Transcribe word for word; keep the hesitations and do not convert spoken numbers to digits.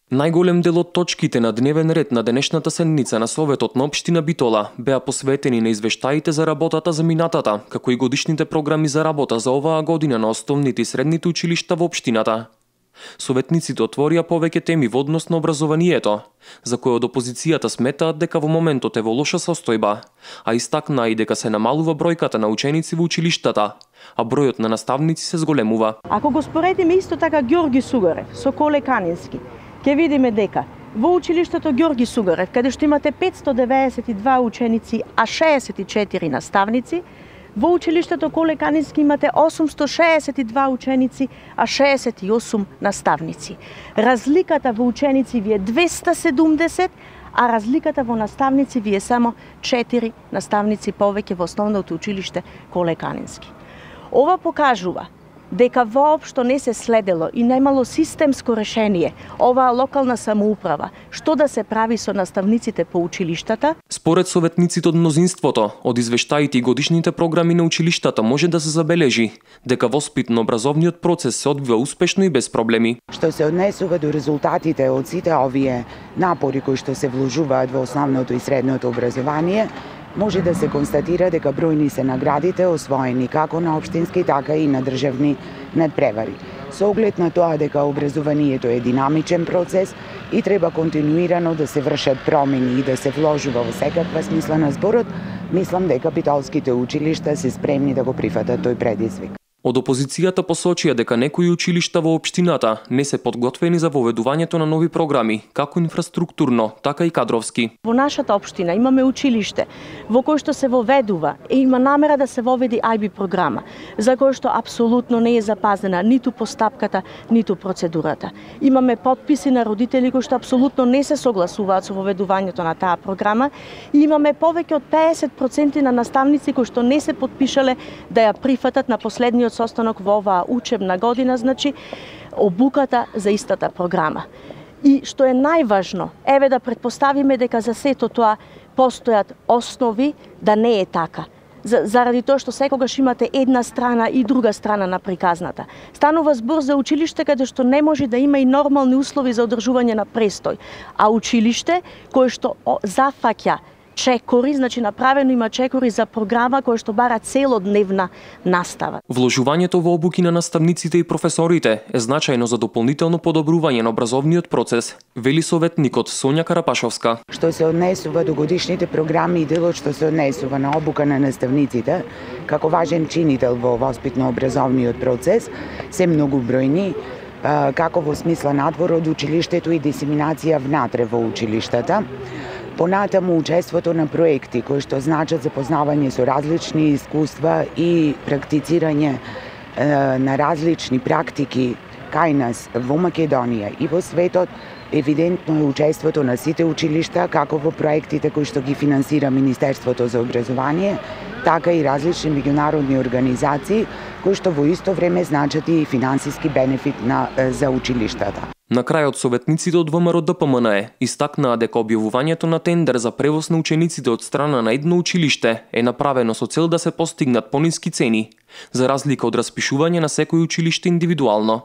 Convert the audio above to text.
Најголем дел од точките на дневен ред на денешната седница на Советот на општина Битола беа посветени на извештаите за работата за минатата, како и годишните програми за работа за оваа година на основните и средните училишта во општината. Советниците отворија повеќе теми во однос на образованието, за кои од опозицијата сметаат дека во моментот е во лоша состојба, а истакнаа и дека се намалува бројката на ученици во училиштата, а бројот на наставници се зголемува. Ако го споредиме исто така Ѓорги Сугарев со Коле Канински, ќе видиме дека во училиштето Ѓорги Сугарев, каде што имате петстотини деветдесет и два ученици, а шеесет и четири наставници, во училиштето Коле Канински имате осумстотини шеесет и два ученици, а шеесет и осум наставници. Разликата во ученици ви е двеста седумдесет, а разликата во наставници ви е само четири наставници повеќе во основното училиште Коле Канински. Ова покажува дека воопшто не се следело и немало системско решение оваа локална самоуправа што да се прави со наставниците по училиштата. Според советниците од мнозинството, од извештаите и годишните програми на училиштата може да се забележи дека воспитно-образовниот процес се одвива успешно и без проблеми. Што се однесува до резултатите од сите овие напори кои што се вложуваат во основното и средното образование, може да се констатира дека бројни се наградите освоени како на општински, така и на државни надпревари. Со оглед на тоа дека образованието е динамичен процес и треба континуирано да се вршат промени и да се вложува во секаква смисла на зборот, мислам дека битолските училишта се спремни да го прифатат тој предизвик. Од опозицијата посочија дека некои училишта во општината не се подготвени за воведувањето на нови програми, како инфраструктурно, така и кадровски. Во нашата општина имаме училиште во кој што се воведува и има намера да се воведи ај би програма, за кој што апсолутно не е запазена ниту постапката, ниту процедурата. Имаме потписи на родители кои што апсолутно не се согласуваат со воведувањето на таа програма и имаме повеќе од педесет проценти на наставници кои што не се потпишале да ја прифатат на последниот состанок во оваа учебна година, значи обуката за истата програма. И што е најважно, еве да претпоставиме дека за сето тоа постојат основи да не е така. Заради тоа што секогаш имате една страна и друга страна на приказната. Станува збор за училиште каде што не може да има и нормални услови за одржување на престој, а училиште кое што зафаќа чекори, значи направено има чекори за програма која што бара целодневна настава. Вложувањето во обуки на наставниците и професорите е значајно за дополнително подобрување на образовниот процес, вели советникот Сонја Карапашовска. Што се однесува до годишните програми и делот што се однесува на обука на наставниците, како важен чинител во воспитно-образовниот процес, се многу бројни, како во смисла надвор од училиштето и дисеминација внатре во училиштата. Понатаму учеството на проекти кои што значат запознавање со различни искуства и практицирање е, на различни практики кај нас во Македонија и во светот, евидентно е учеството на сите училишта, како во проектите кои што ги финансира Министерството за образование, така и различни меѓународни организации кои што во исто време значат и финансиски бенефит на, за училиштата. На крајот советниците од ВМРО-ДПМНЕ истакнаа дека објавувањето на тендер за превоз на учениците од страна на едно училиште е направено со цел да се постигнат пониски цени, за разлика од распишување на секој училиште индивидуално.